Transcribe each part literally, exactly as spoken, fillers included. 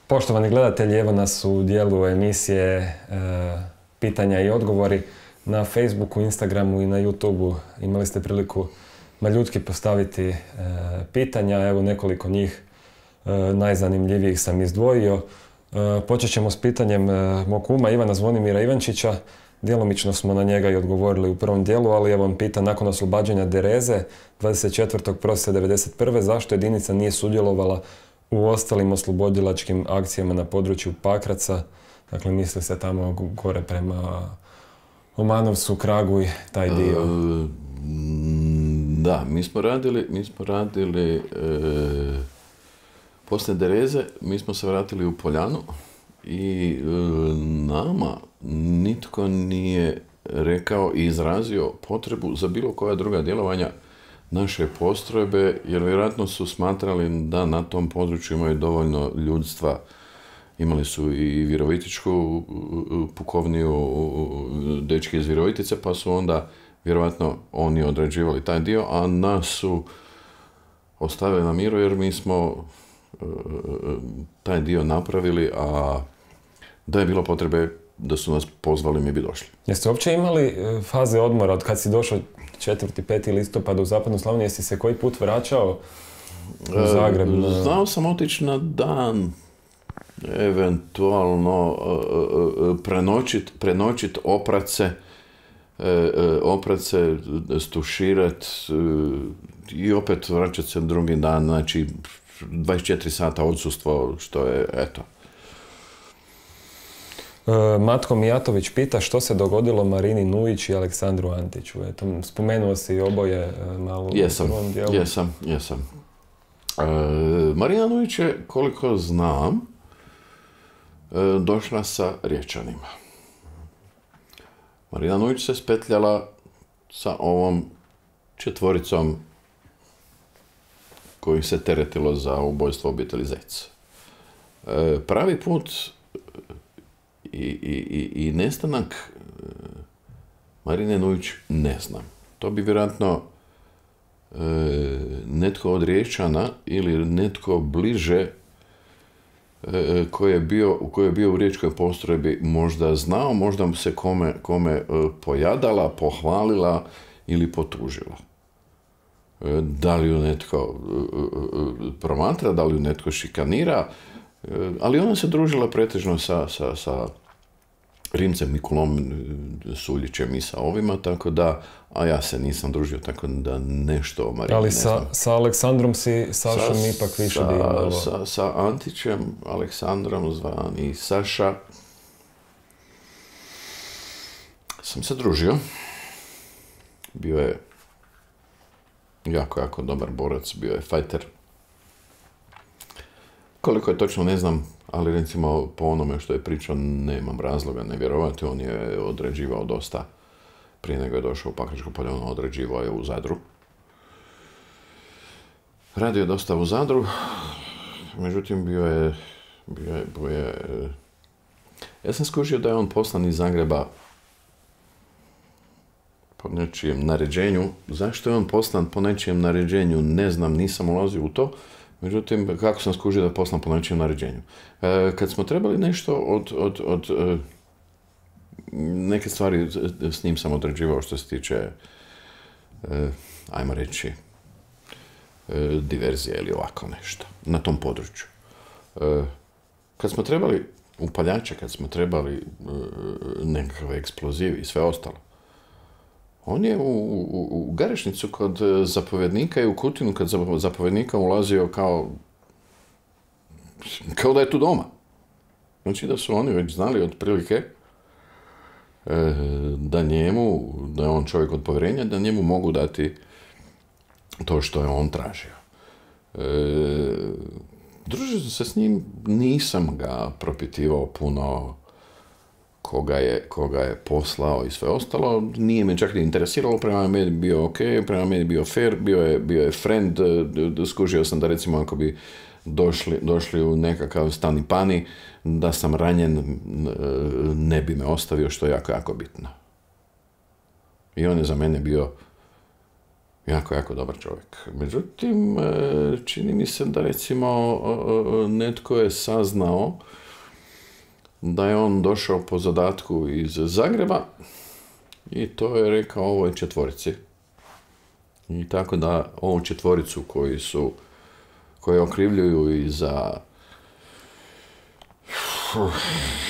Poštovani gledatelji, evo nas u dijelu emisije e, pitanja i odgovori. Na Facebooku, Instagramu i na YouTubeu imali ste priliku maljutki postaviti e, pitanja. Evo nekoliko njih e, najzanimljivijih sam izdvojio. E, počet ćemo s pitanjem e, mog kuma Ivana Zvonimira Ivančića. Djelomično smo na njega i odgovorili u prvom dijelu, ali evo on pita nakon oslobađanja Dereze dvadeset četvrtog prosinca devedeset prve zašto jedinica nije sudjelovala u ostalim oslobodilačkim akcijama na području Pakraca. Dakle, misli se tamo gore prema Omanovcu, Kragu i taj dio. E, da, mi smo radili, mi smo radili e, poslije Dereze, mi smo se vratili u Poljanu i e, nama nitko nije rekao i izrazio potrebu za bilo koja druga djelovanja naše postrojbe, jer vjerojatno su smatrali da na tom području imaju dovoljno ljudstva. Imali su i virovitičku pukovniju, dečki iz Virovitice, pa su onda vjerojatno oni određivali taj dio, a nas su ostavili na miru jer mi smo taj dio napravili, a da je bilo potrebe da su nas pozvali, mi bi došli. Jeste uopće imali faze odmora od kad si došao četvrti peti listopada u Zapadnu Slavoniju? Jesi se koji put vraćao u Zagreb? E, znao sam otići na dan, eventualno prenoćit, prenoćit oprace, oprace, stuširat i opet vraćat se drugi dan, znači dvadeset četiri sata odsustvo, što je, eto. Matko Mijatović pita što se dogodilo Marini Nujić i Aleksandru Antiću. Eto, spomenuo si oboje malo jesam, u prvom dijelu. Jesam, jesam. E, Marina Nujić je, koliko znam, e, došla sa Riječanima. Marina Nujić se spetljala sa ovom četvoricom koji se teretilo za ubojstvo obitelji Zec. E, pravi put I, i, i nestanak Marine Nujić ne znam. To bi vjerojatno e, netko od Riječana ili netko bliže e, koji je bio, koji je bio u riječkoj postrojbi možda znao, možda mu se kome, kome e, pojadala, pohvalila ili potužila. E, da li ju netko e, promatra, da li ju netko šikanira, ali ona se družila pretežno sa, sa, sa Rimcem Mikulom Suljićem i sa ovima, tako da, a ja se nisam družio, tako da nešto o Marini ali ne sa, znam. sa Aleksandrom si Sašom sa, ipak više divno. Sa, sa Antićem, Aleksandrom zvani Saša, sam se družio. Bio je jako, jako dobar borac, bio je fajter. Koliko je točno ne znam, ali recimo po onome što je pričao nemam razloga ne vjerovati. On je određivao dosta, prije nego je došao u Pakračko polje, on određivao je u Zadru. Radio je dosta u Zadru, međutim bio je, bio je, bio je ja sam skužio da je on poslan iz Zagreba po nečijem naređenju. Zašto je on poslan po nečijem naređenju, ne znam, nisam ulazio u to. Međutim, kako sam skužio da poslam po nečijem naređenju. E, kad smo trebali nešto od, od, od e, neke stvari s njim sam određivao što se tiče, e, ajmo reći, e, diverzije ili ovako nešto na tom području. E, kad smo trebali upaljače, kad smo trebali e, nekakve eksplozivi i sve ostalo, on je u, u, u Garešnicu kod zapovjednika i u Kutinu kod zapovjednika ulazio kao, kao da je tu doma. Znači da su oni već znali otprilike e, da njemu, da je on čovjek od povjerenja, da njemu mogu dati to što je on tražio. E, družio se s njim, nisam ga propitivao puno koga je, koga je poslao i sve ostalo. Nije me čak ni interesiralo, prema meni bio ok, prema meni bio fair, bio je, bio je friend. Skužio sam da recimo ako bi došli, došli u nekakav stani pani, da sam ranjen, ne bi me ostavio, što je jako, jako bitno. I on je za mene bio Jako, jako dobar čovjek. Međutim, čini mi se da recimo netko je saznao da je on došao po zadatku iz Zagreba i to je rekao ovoj četvorici. I tako da ovu četvoricu koji su, koji okrivljuju i za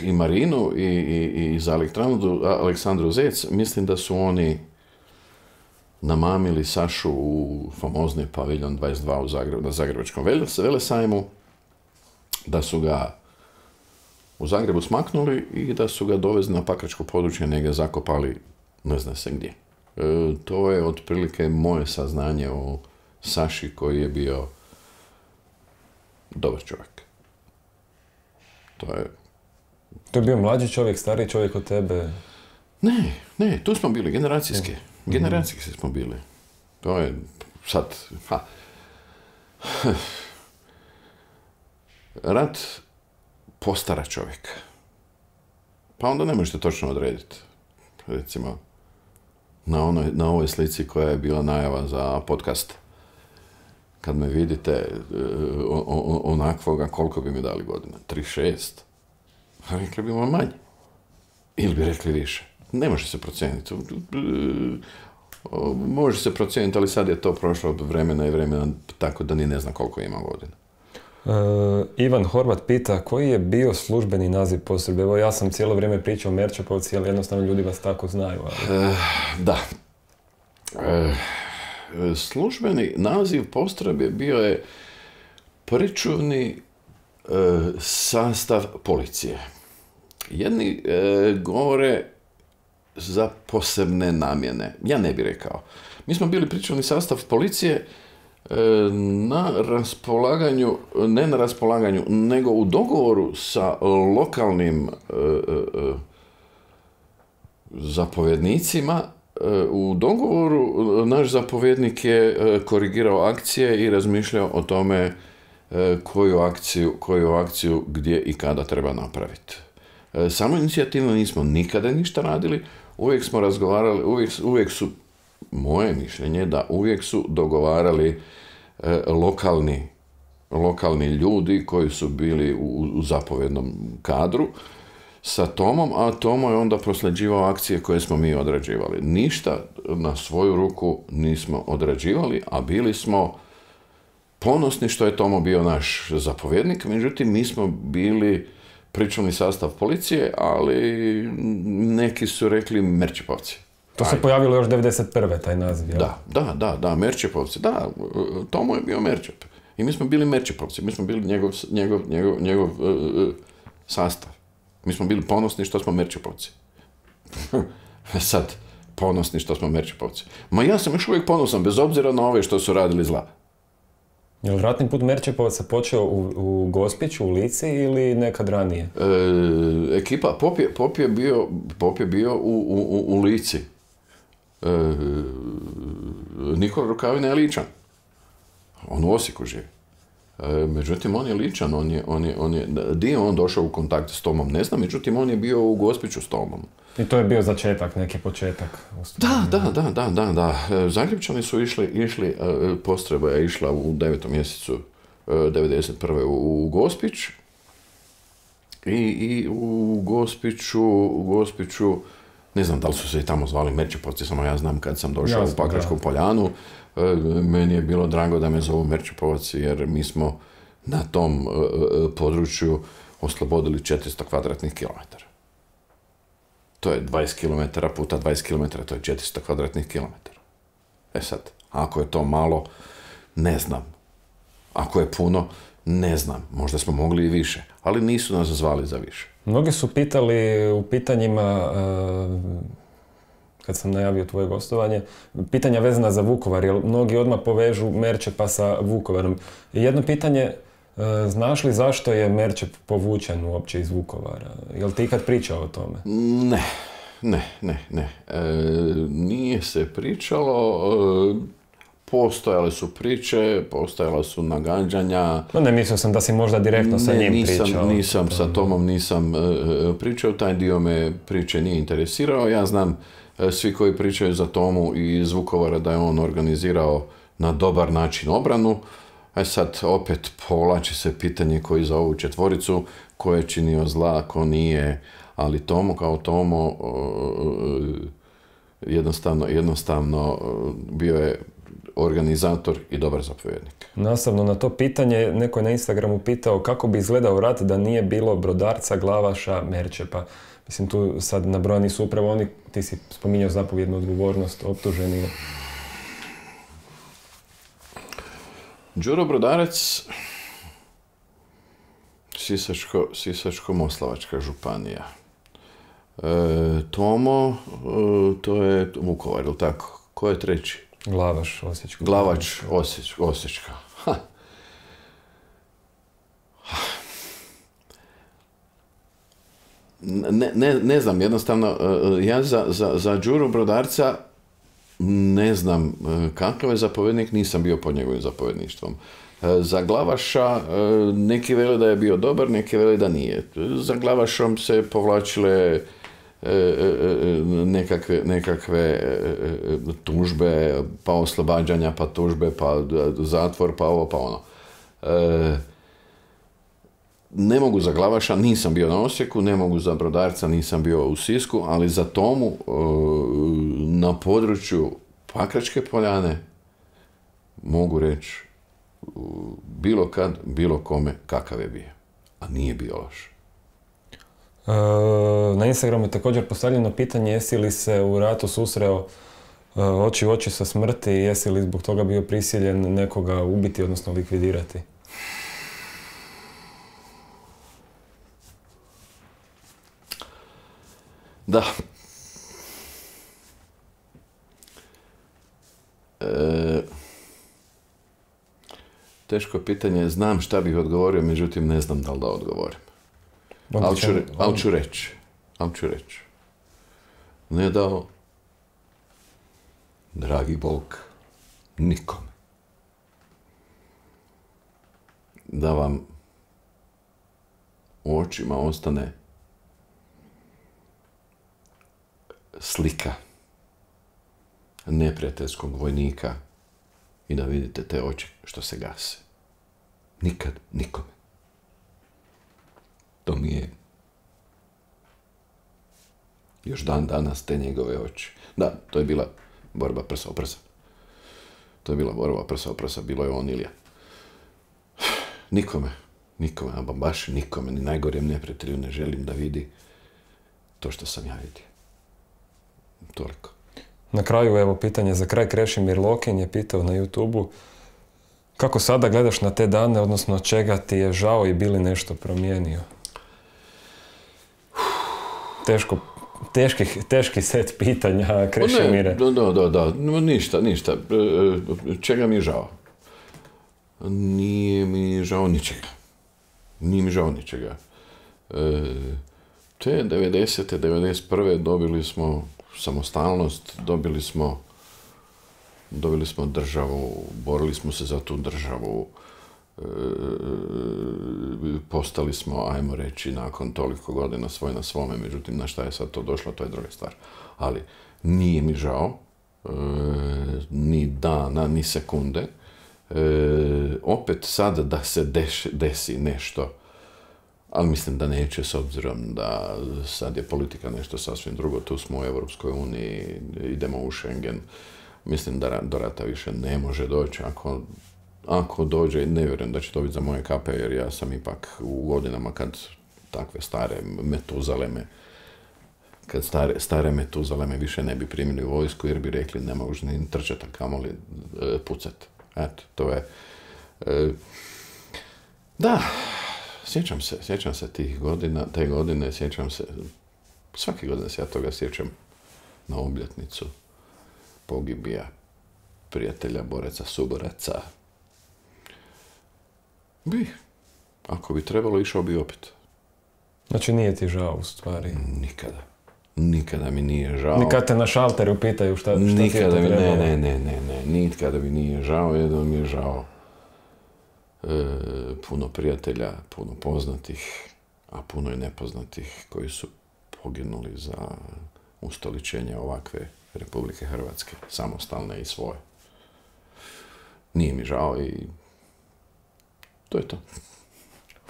i Marinu i, i, i za Aleksandru, Aleksandru Zec, mislim da su oni namamili Sašu u famozni paviljon dvadeset dva u Zagrebu, na Zagrebačkom velesajmu, da su ga u Zagrebu smaknuli i da su ga dovezli na Pakračko područje, negdje zakopali, ne zna se gdje. E, to je otprilike moje saznanje o Saši koji je bio dobar čovjek. To je... To je bio mlađi čovjek, stariji čovjek od tebe? Ne, ne, tu smo bili, generacijski. Generacijski smo bili. To je sad... Ha. Rat postara čovjeka. Pa onda ne možete točno odrediti. Recimo, na, onoj, na ovoj slici koja je bila najava za podcast, kad me vidite onakvoga, koliko bi mi dali godina? trideset šest? Rekli bi vam manje. Ili bi rekli više. Ne može se procijeniti. Može se procijeniti, ali sad je to prošlo vremena i vremena, tako da ni ne zna koliko ima godina. Uh, Ivan Horvat pita koji je bio službeni naziv postrojbe. Evo ja sam cijelo vrijeme pričao o Merčepovci, ali jednostavno ljudi vas tako znaju. Ali... Uh, da. Uh, službeni naziv postrojbe bio je pričuvni uh, sastav policije. Jedni uh, govore za posebne namjene. Ja ne bih rekao. Mi smo bili pričuvni sastav policije na raspolaganju, ne na raspolaganju, nego u dogovoru sa lokalnim e, e, zapovjednicima. E, u dogovoru naš zapovjednik je korigirao akcije i razmišljao o tome e, koju akciju, koju akciju gdje i kada treba napraviti. E, samo inicijativno nismo nikada ništa radili, uvijek smo razgovarali, uvijek, uvijek su, moje mišljenje da uvijek su dogovarali e, lokalni, lokalni ljudi koji su bili u, u zapovjednom kadru sa Tomom, a Tomo je onda prosljeđivao akcije koje smo mi odrađivali. Ništa na svoju ruku nismo odrađivali, a bili smo ponosni što je Tomo bio naš zapovjednik, međutim mi smo bili pričuvni sastav policije, ali neki su rekli Merčepovci. To se pojavilo još devedeset prve taj naziv, jel? Da, da, da, da, Merčepovci, da, Tomo je bio Merčep. I mi smo bili Merčepovci, mi smo bili njegov, njegov, njegov, njegov uh, sastav. Mi smo bili ponosni što smo Merčepovci. Sad, ponosni što smo Merčepovci. Ma ja sam još uvijek ponosan, bez obzira na ove što su radili zla. Je li ratni put Merčepovaca počeo u, u Gospiću, u Lici ili nekad ranije? E, ekipa, Pop je, Pop je bio, Pop je bio u, u, u Lici. E, Nikola Rukavina je Ličan. On u Osijeku živi. E, međutim, on je Ličan, on je, on je, on je, di je on došao u kontakt s Tomom, ne znam, međutim, on je bio u Gospiću s Tomom. I to je bio začetak, neki početak. Da, da, da, da, da, da. Zagrebčani su išli, išli postrojba je išla u devetom mjesecu devedeset prve u, u Gospić. I, i u Gospiću, u Gospiću, ne znam da li su se i tamo zvali Merčepovci, samo ja znam kad sam došao Jasno, u Pakračku da. Poljanu. Meni je bilo drago da me zovu Merčepovci jer mi smo na tom području oslobodili četiristo kvadratnih kilometara. To je dvadeset kilometara puta dvadeset kilometara, to je četiristo kvadratnih kilometara. E sad, ako je to malo, ne znam. Ako je puno, ne znam. Možda smo mogli i više, ali nisu nas zvali za više. Mnogi su pitali u pitanjima, kad sam najavio tvoje gostovanje, pitanja vezana za Vukovar, jer mnogi odmah povežu Merčepa sa Vukovarom. Jedno pitanje, znaš li zašto je Merčep povučen uopće iz Vukovara? Jel ti ikad pričao o tome? Ne, ne, ne, ne. E, nije se pričalo, e, postojale su priče, postojala su nagađanja. No ne, mislio sam da si možda direktno sa njim nisam, pričao. Nisam, sa Tomom nisam e, pričao, taj dio me priče nije interesirao. Ja znam svi koji pričaju za Tomu iz Vukovara da je on organizirao na dobar način obranu. A sad opet povlači se pitanje koji za ovu četvoricu, ko je činio zla, ko nije, ali Tomo kao Tomo jednostavno, jednostavno bio je organizator i dobar zapovjednik. Nastavno na to pitanje, neko je na Instagramu pitao kako bi izgledao rat da nije bilo Brodarca, Glavaša, Merčepa. Mislim, tu sad nabrojani su upravo oni, ti si spominjao zapovjednu odgovornost, optuženi. Đuro Brodarac, Sisačko, Sisačko-moslavačka županija. E, Tomo, e, to je Vukovar, ili tako? Ko je treći? Glavaš, Osječka. Glavač, Osjeć, Osječka. Ha. Ne, ne, ne znam, jednostavno, ja za, za, za Đuru Brodarca ne znam kakav je zapovjednik, nisam bio pod njegovim zapovjedništvom. Za Glavaša neki vele da je bio dobar, neki vele da nije. Za Glavašom se povlačile nekakve, nekakve tužbe, pa oslobađanja, pa tužbe, pa zatvor, pa ovo, pa ono. Ne mogu za Glavaša, nisam bio na Osijeku, ne mogu za Brodarca, nisam bio u Sisku, ali za Tomu na području Pakračke Poljane mogu reći bilo kad, bilo kome kakav je bio. A nije bio loš. Na Instagramu je također postavljeno pitanje jesi li se u ratu susreo oči u oči sa smrti i jesi li zbog toga bio prisiljen nekoga ubiti, odnosno likvidirati? Da. E, teško pitanje, znam šta bih odgovorio, međutim ne znam da li da odgovorim. Ali ću, al ću reći. Ali ću reći. Ne dao, dragi Bog, nikome da vam u očima ostane slika neprijateljskog vojnika i da vidite te oči što se gase. Nikad nikome. To mi je još dan danas te njegove oči. Da, to je bila borba prsa o prsa. To je bila borba prsa o prsa, bilo je on ili ja. Nikome, nikome, a baš nikome, ni najgorijem neprijatelju ne želim da vidi to što sam ja vidio. Toliko. Na kraju, evo, pitanje za kraj. Krešimir Lokin je pitao na YouTubeu kako sada gledaš na te dane, odnosno čega ti je žao i bi li nešto promijenio? Teško, teški, teški set pitanja, Krešimire. Ne, da, da, da, ništa, ništa. Čega mi je žao? Nije mi žao ničega. Nije mi žao ničega. Te devedesete, devedeset prve dobili smo samostalnost, dobili smo, dobili smo državu, borili smo se za tu državu, e, postali smo, ajmo reći, nakon toliko godina svoj na svome, međutim, na šta je sad to došlo, to je druga stvar. Ali nije mi žao, e, ni dana, ni sekunde, e, opet sad da se deš, desi nešto, ali mislim da neće, s obzirom da sad je politika nešto sasvim drugo, tu smo u Europskoj uniji, idemo u Schengen, mislim da do rata više ne može doći, ako, ako dođe, ne vjerujem da će to biti za moje kape, jer ja sam ipak u godinama kad takve stare metuzaleme, kad stare, stare metuzaleme više ne bi primili u vojsku, jer bi rekli ne možeš ni trčati, a kamoli e, pucati. Eto, to je... E, da... Sjećam se, sjećam se tih godina, te godine, sjećam se, svake godine se ja toga sjećam na obljetnicu pogibija prijatelja, boraca, suboraca. Bi, ako bi trebalo, išao bi opet. Znači nije ti žao u stvari? Nikada. Nikada mi nije žao. Nikada te na šalteru pitaju šta, šta nikada ti je to mi, trebalo? Ne, ne, ne, ne, ne, nikada mi nije žao, jedno mi je žao. E, puno prijatelja, puno poznatih, a puno i nepoznatih koji su poginuli za ustoličenja ovakve Republike Hrvatske, samostalne i svoje. Nije mi žao i to je to.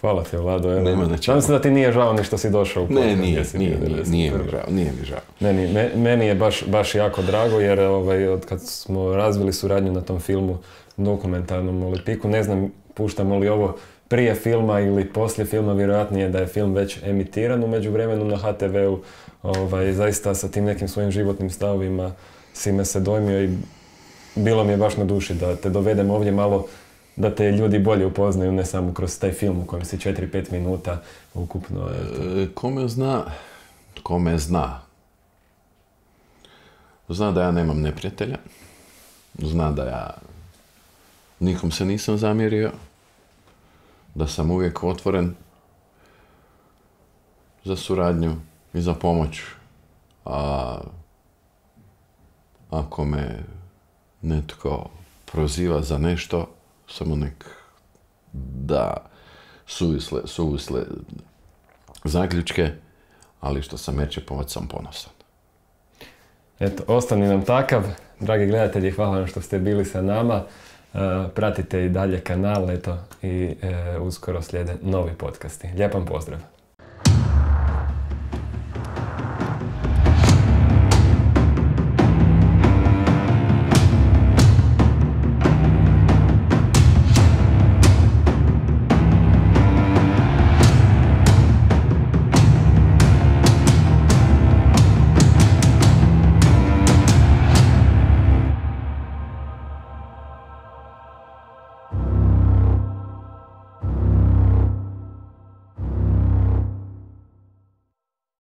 Hvala ti, Vlado. Evo, Nema na čemu. nadam se da ti nije žao ni što si došao u podcast. Ne, nije, gdje si nije, bio nije, devedeset nije prve. mi žao, nije mi žao. Meni, me- meni je baš, baš jako drago jer ovaj, od kad smo razvili suradnju na tom filmu dokumentarnom o Lipiku, ne znam puštamo li ovo prije filma ili poslije filma, vjerojatnije da je film već emitiran u međuvremenu na ha te veu. Ovaj, zaista sa tim nekim svojim životnim stavovima si me se dojmio i bilo mi je baš na duši da te dovedem ovdje malo, da te ljudi bolje upoznaju, ne samo kroz taj film u kojem si četiri pet minuta ukupno. Eto. E, Kome zna, kome zna. Zna da ja nemam neprijatelja. Zna da ja nikom se nisam zamjerio. Da sam uvijek otvoren za suradnju i za pomoć. A ako me netko proziva za nešto, samo nek da suvisle, suvisle zaključke, ali što sam Merčepovac sam ponosan. Eto, ostani nam takav. Dragi gledatelji, hvala vam što ste bili sa nama. Uh, pratite i dalje kanal, eto, i uh, uskoro slijede novi podcasti. Lijep vam pozdrav!